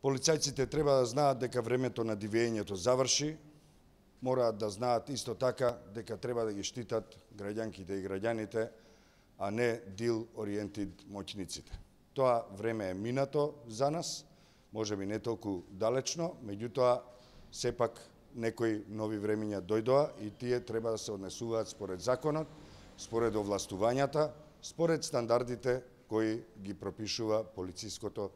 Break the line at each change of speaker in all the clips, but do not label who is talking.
Полицајците треба да знаат дека времето на дивењето заврши, мораат да знаат исто така дека треба да ги штитат граѓанките и граѓаните, а не дил-ориентид моќниците. Тоа време е минато за нас, можеби не толку далечно, меѓутоа сепак некои нови времиња дојдоа и тие треба да се однесуваат според законот, според овластувањата, според стандардите кои ги пропишува полициското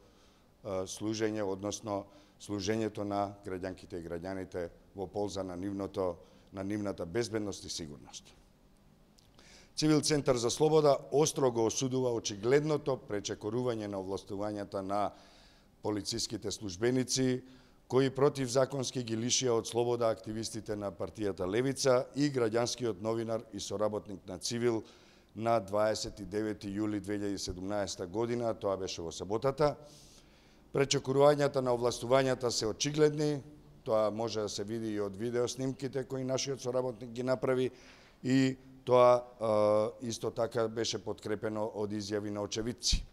служење, односно служењето на граѓанките и граѓаните во полза на нивната безбедност и сигурност. Цивил Центар за слобода остро го осудува очигледното пречекорување на овластувањата на полициските службеници, кои противзаконски ги лишија од слобода активистите на партијата Левица и граѓанскиот новинар и соработник на Цивил на 29 јули 2017 година, тоа беше во саботата. Пречекорувањата на овластувањата се очигледни, тоа може да се види и од видеоснимките кои нашиот соработник ги направи и тоа исто така беше подкрепено од изјави на очевидци.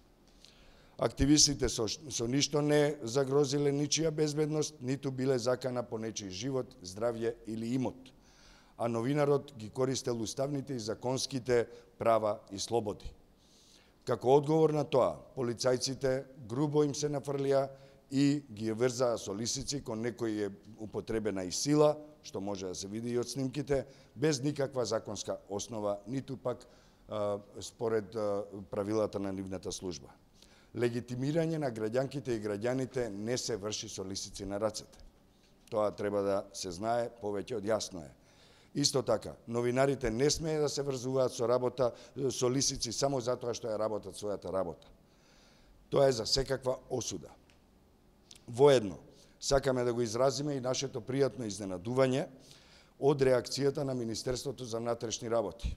Активистите со ништо не загрозиле ничија безбедност, ниту биле закана по нечиј живот, здравје или имот, а новинарот ги користел уставните и законските права и слободи. Како одговор на тоа, полицајците грубо им се нафрлија и ги врзаа со лисици, кон некој е употребена и сила, што може да се види и од снимките, без никаква законска основа, ниту пак според правилата на нивната служба. Легитимирање на граѓанките и граѓаните не се врши со лисици на рацете. Тоа треба да се знае, повеќе од јасно е. Исто така, новинарите не смее да се врзуваат со работа со лисици само затоа што ја работат својата работа. Тоа е за секаква осуда. Воедно, сакаме да го изразиме и нашето пријатно изненадување од реакцијата на Министерството за внатрешни работи.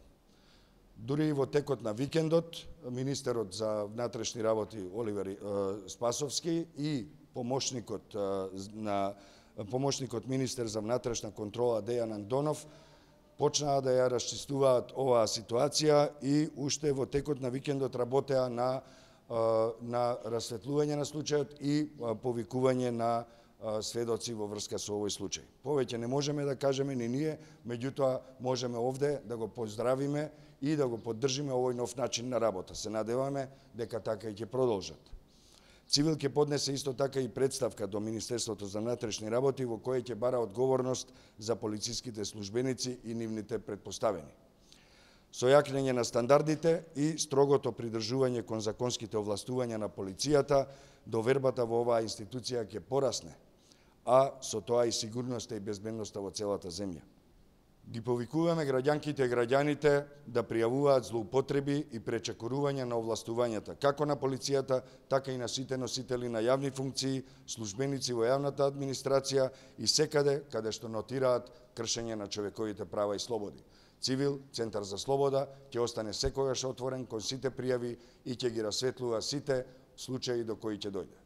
Дури и во текот на викендот, министерот за внатрешни работи Оливер Спасовски и помошникот министер за внатрешна контрола Дејан Андонов почнаа да ја расчистуваат оваа ситуација и уште во текот на викендот работеа на расветлување на случајот и повикување на сведоци во врска со овој случај. Повеќе не можеме да кажеме ни ние, меѓутоа можеме овде да го поздравиме и да го поддржиме овој нов начин на работа. Се надеваме дека така и ќе продолжат. Цивил ќе поднесе исто така и представка до Министерството за внатрешни работи во која ќе бара одговорност за полициските службеници и нивните претпоставени. Со јакнење на стандардите и строгото придржување кон законските овластувања на полицијата, довербата во оваа институција ќе порасне, а со тоа и сигурноста и безбедноста во целата земја. Ги повикуваме граѓанките и граѓаните да пријавуваат злоупотреби и пречекорување на овластувањата, како на полицијата, така и на сите носители на јавни функции, службеници во јавната администрација и секаде каде што нотираат кршење на човековите права и слободи. Цивил, Центар за слобода, ќе остане секогаш отворен кон сите пријави и ќе ги расветлува сите случаи до кои ќе дојде.